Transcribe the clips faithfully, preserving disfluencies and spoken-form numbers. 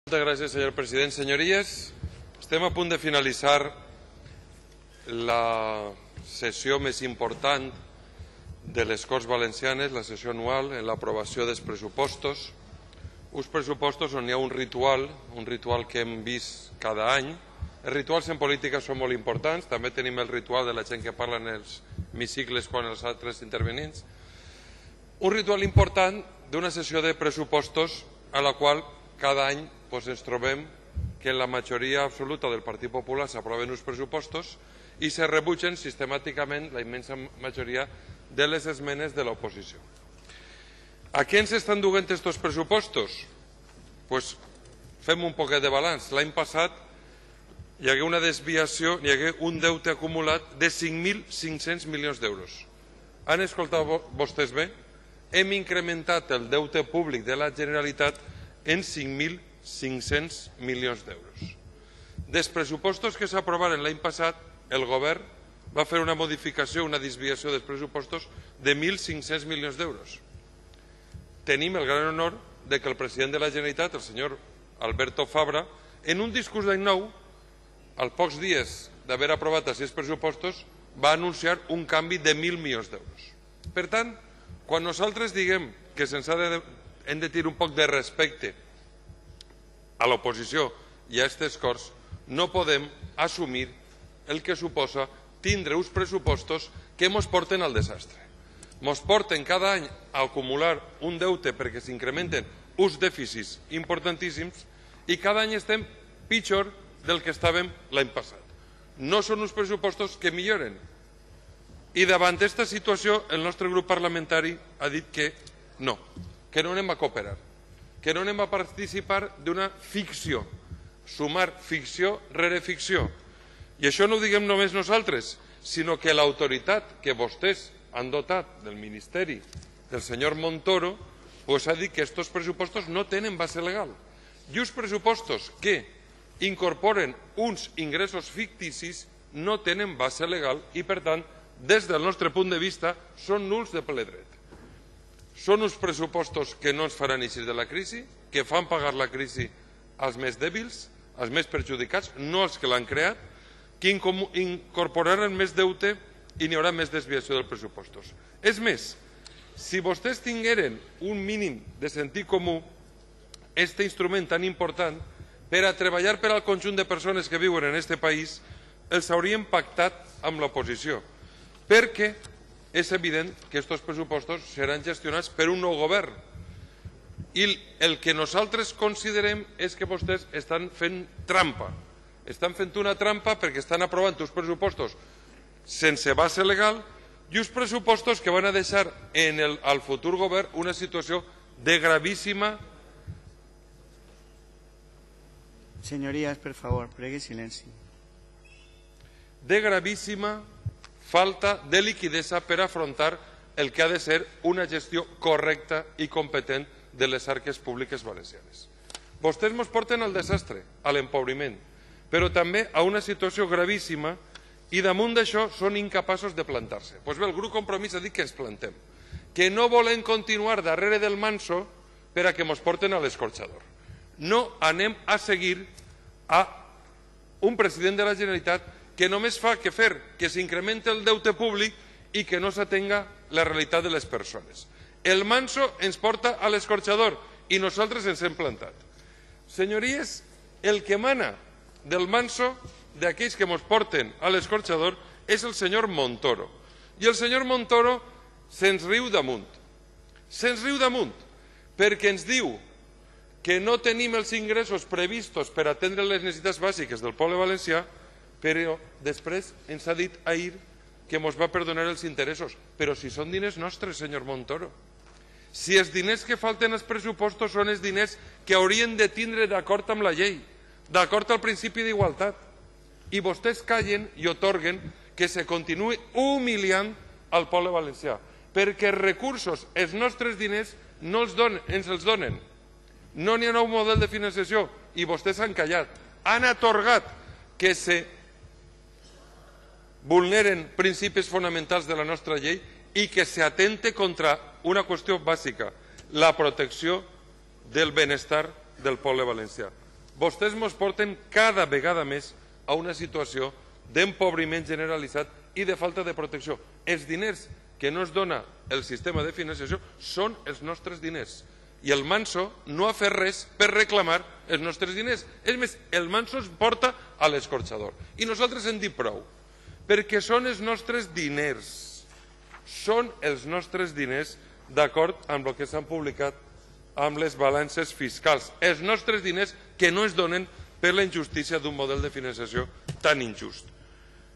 Moltes gràcies, senyor president. Senyories, estem a punt de finalitzar la sessió més important de les Corts Valencianes, la sessió anual, en l'aprovació dels pressupostos. Uns pressupostos on hi ha un ritual, un ritual que hem vist cada any. Els rituals en política són molt importants, també tenim el ritual de la gent que parla en els hemicicles quan els altres intervenents. Un ritual important d'una sessió de pressupostos a la qual cada any doncs, ens trobem que en la majoria absoluta del Partit Popular s'aproven uns pressupostos i se rebutgen sistemàticament la immensa majoria de les esmenes de l'oposició. A què ens estan duent aquests pressupostos? Pues fem un poquet de balanç. L'any passat hi hagué una desviació, hi hagué un deute acumulat de cinc mil cinc-cents milions d'euros. Han escoltat vostès bé? Hem incrementat el deute públic de la Generalitat en cinc mil cinc-cents milions d'euros. Dels pressupostos que s'aprovaren l'any passat, el govern va fer una modificació, una desviació dels pressupostos de mil cinc-cents milions d'euros. Tenim el gran honor de que el president de la Generalitat, el senyor Alberto Fabra, en un discurs d'any nou, als pocs dies d'haver aprovat aquests pressupostos, va anunciar un canvi de mil milions d'euros. Per tant, quan nosaltres diguem que se'ns ha de, hem de tenir un poc de respecte a l'oposició i a aquestes Corts, no podem assumir el que suposa tindre uns pressupostos que ens porten al desastre. Ens porten cada any a acumular un deute perquè s'incrementen uns dèficits importantíssims i cada any estem pitjor del que estàvem l'any passat. No són uns pressupostos que milloren. I davant d'aquesta situació el nostre grup parlamentari ha dit que no, que no anem a cooperar, que no anem a participar d'una ficció, sumar ficció rere ficció. I això no ho diguem només nosaltres, sinó que l'autoritat que vostès han dotat del Ministeri del senyor Montoro pues ha dit que aquests pressupostos no tenen base legal. I uns pressupostos que incorporen uns ingressos ficticis no tenen base legal i, per tant, des del nostre punt de vista, són nuls de ple dret. Són uns pressupostos que no ens faran eixir de la crisi, que fan pagar la crisi als més dèbils, als més perjudicats, no als que l'han creat, que incorporaran més deute i n'hi haurà més desviació dels pressupostos. És més, si vostès tingueren un mínim de sentit comú, aquest instrument tan important, per a treballar per al conjunt de persones que viuen en aquest país, els haurien pactat amb l'oposició, perquè és evident que aquests pressupostos seran gestionats per un nou govern. I el que nosaltres considerem és que vostès estan fent trampa. Estan fent una trampa perquè estan aprovant uns pressupostos sense base legal i uns pressupostos que van a deixar en el, al futur govern una situació de gravíssima... Señorías, por favor, pregue silenci. de gravíssima falta de liquiditat per afrontar el que ha de ser una gestió correcta i competent de les arques públiques valencianes. Vostès ens porten al desastre, a l'empobriment, però també a una situació gravíssima i damunt d'això són incapaços de plantar-se. Doncs bé, el grup Compromís ha dit que ens plantem, que no volem continuar darrere del manso per a que ens porten a l'escorxador. No anem a seguir a un president de la Generalitat que només fa que fer que s'incrementi el deute públic i que no s'atenga la realitat de les persones. El manso ens porta a l'escorxador i nosaltres ens hem plantat. Senyories, el que mana del manso, d'aquells que ens porten a l'escorxador, és el senyor Montoro. I el senyor Montoro se'ns riu damunt. Se'ns riu damunt perquè ens diu que no tenim els ingressos previstos per atendre les necessitats bàsiques del poble valencià, però després ens ha dit ahir que ens va perdonar els interessos. Però si són diners nostres, senyor Montoro. Si els diners que falten als pressupostos són els diners que haurien de tindre d'acord amb la llei, d'acord al principi d'igualtat. I vostès callen i otorguen que se continuï humiliant al poble valencià, perquè els recursos, els nostres diners, no els donen, ens els donen. No n'hi ha nou model de finançació i vostès han callat. Han atorgat que se vulneren principis fonamentals de la nostra llei i que s'atente contra una qüestió bàsica, la protecció del benestar del poble valencià. vostès ens porten cada vegada més a una situació d'empobriment generalitzat i de falta de protecció. Els diners que no es dona el sistema de financiació són els nostres diners. I el Manso no ha fet res per reclamar els nostres diners. És més, el Manso es porta a l'escorxador. I nosaltres hem dit prou, perquè són els nostres diners. Són els nostres diners d'acord amb el que s'han publicat amb les balances fiscals. Els nostres diners que no es donen per la injustícia d'un model de financiació tan injust.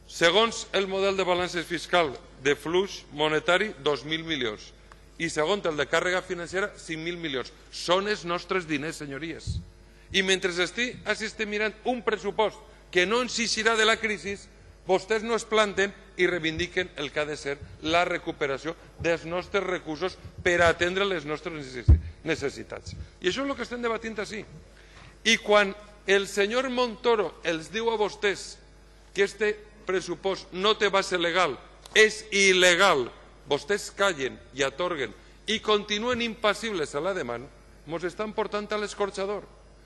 Segons el model de balances fiscal de flux monetari, dos mil milions. I segons el de càrrega financera, cinc mil milions. Són els nostres diners, senyories. I mentre estic, estic mirant un pressupost que no ens eixirà de la crisi, vostès no es planten i reivindiquen el que ha de ser la recuperació dels nostres recursos per atendre les nostres necessitats. I això és el que estem debatint així. I quan el senyor Montoro els diu a vostès que este pressupost no té base legal, és il·legal, vostès callen i atorguen i continuen impassibles a la demanda, ens estan portant a l'escorxador,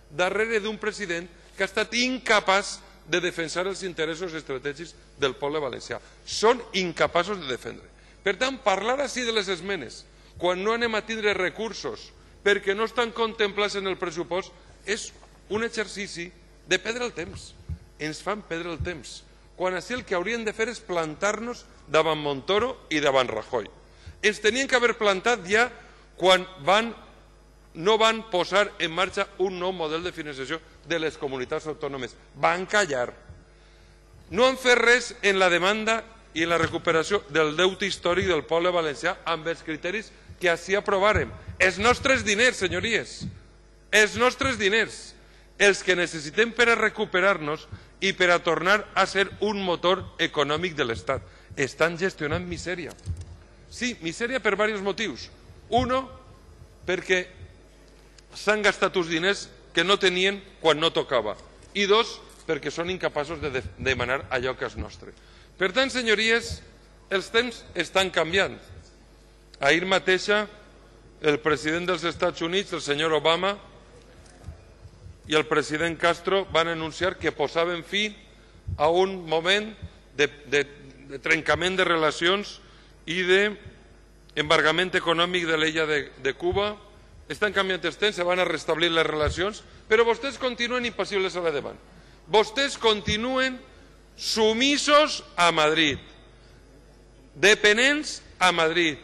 darrere d'un president que ha estat incapaç de defensar els interessos estratègics del poble valencià. Són incapaços de defendre. Per tant, parlar així de les esmenes, quan no anem a tindre recursos perquè no estan contemplats en el pressupost, és un exercici de perdre el temps. Ens fan perdre el temps. Quan així el que haurien de fer és plantar-nos davant Montoro i davant Rajoy. Ens tenien que haver plantat ja quan van no van posar en marxa un nou model de financiació de les comunitats autònomes. Van callar. No han fet res en la demanda i en la recuperació del deute històric del poble valencià amb els criteris que així aprovàrem. Els nostres diners, senyories, els nostres diners, els que necessitem per a recuperar-nos i per a tornar a ser un motor econòmic de l'Estat. Estan gestionant misèria. Sí, misèria per diversos motius. Uno, perquè s'han gastat uns diners que no tenien quan no tocava. I dos, perquè són incapaços de demanar allò que és nostre. Per tant, senyories, els temps estan canviant. Ahir mateixa, el president dels Estats Units, el senyor Obama, i el president Castro van anunciar que posaven fi a un moment de, de, de trencament de relacions i d'embargament econòmic de l'illa de, de Cuba. Estan canviant els temps, se van a restablir les relacions, però vostès continuen impassibles a la davant. Vostès continuen sumisos a Madrid, dependents a Madrid,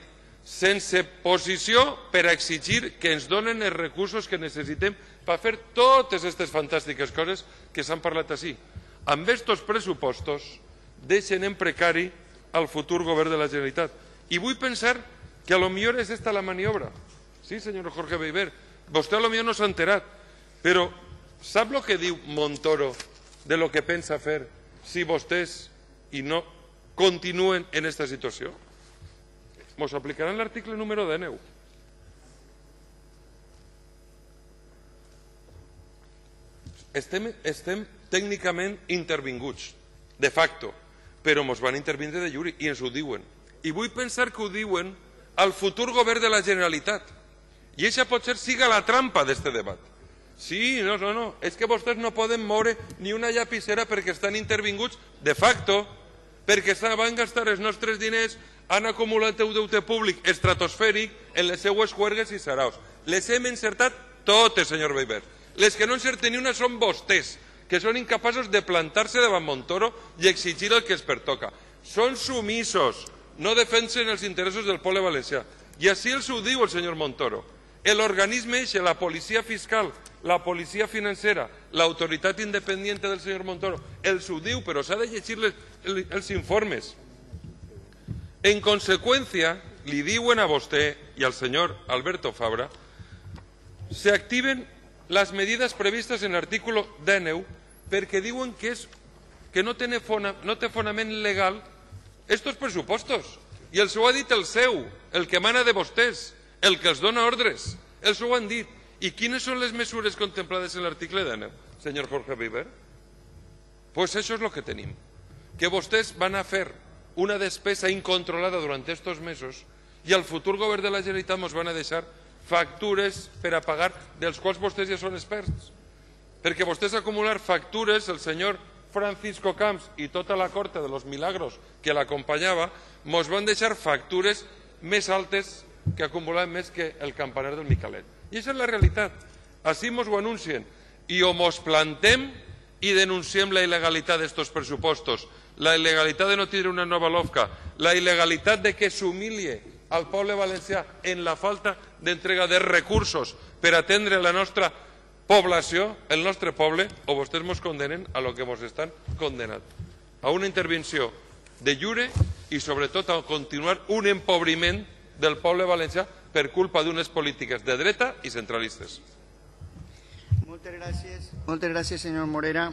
sense posició per a exigir que ens donen els recursos que necessitem per fer totes aquestes fantàstiques coses que s'han parlat així. Amb aquests pressupostos deixen en precari el futur govern de la Generalitat. I vull pensar que a lo millor és esta la maniobra. Sí, senyor Jorge Beiber, vostè a lo millor no s'ha enterat, però sap el que diu Montoro de lo que pensa fer si vostès i no continuen en aquesta situació? Ens aplicaran l'article número dinou. Estem, estem tècnicament intervinguts, de facto, però ens van intervindre de jure i ens ho diuen. I vull pensar que ho diuen al futur govern de la Generalitat. I això potser siga la trampa d'aquest debat. Sí, no, no, no, és que vostès no poden moure ni una llapissera perquè estan intervinguts de facto, perquè van gastar els nostres diners, han acumulat un deute públic estratosfèric en les seues juergues i saraos. Les hem encertat totes, senyor Beiber. Les que no encerten ni una són vostès, que són incapaços de plantar-se davant Montoro i exigir el que es pertoca. Són sumisos, no defensen els interessos del poble valencià. I així els ho diu el senyor Montoro. L'organisme eixe, la policia fiscal, la policia financera, l'autoritat independiente del senyor Montoro, els ho diu, però s'ha de llegir les, els informes. En conseqüència, li diuen a vostè i al senyor Alberto Fabra, se activen les medidas previstes en l'article dinou perquè diuen que, és, que no, té fona, no té fonament legal estos pressupostos. I els ho ha dit el seu, el que mana de vostès, el que els dona ordres. Els ho han dit. I quines són les mesures contemplades en l'article dinou, senyor Jorge Beiber? Pues això és el que tenim. Que vostès van a fer una despesa incontrolada durant estos mesos i al futur govern de la Generalitat ens van a deixar factures per a pagar dels quals vostès ja són experts. perquè vostès acumular factures, el senyor Francisco Camps i tota la corte de los milagros que l'acompanyava, mos van deixar factures més altes que acumulaven més que el campanar del Micalet. I aquesta és la realitat. Així mos ho anuncien. I o mos plantem i denunciem la il·legalitat d'estos pressupostos, la il·legalitat de no tindre una nova LOFCA, la il·legalitat de que s'humilie al poble valencià en la falta d'entrega de recursos per atendre la nostra població, el nostre poble, o vostès mos condenen a lo que mos estan condenant, a una intervenció de jure i sobretot a continuar un empobriment del poble valencià per culpa d'unes polítiques de dreta i centralistes. Moltes gràcies, moltes gràcies, senyor Morera.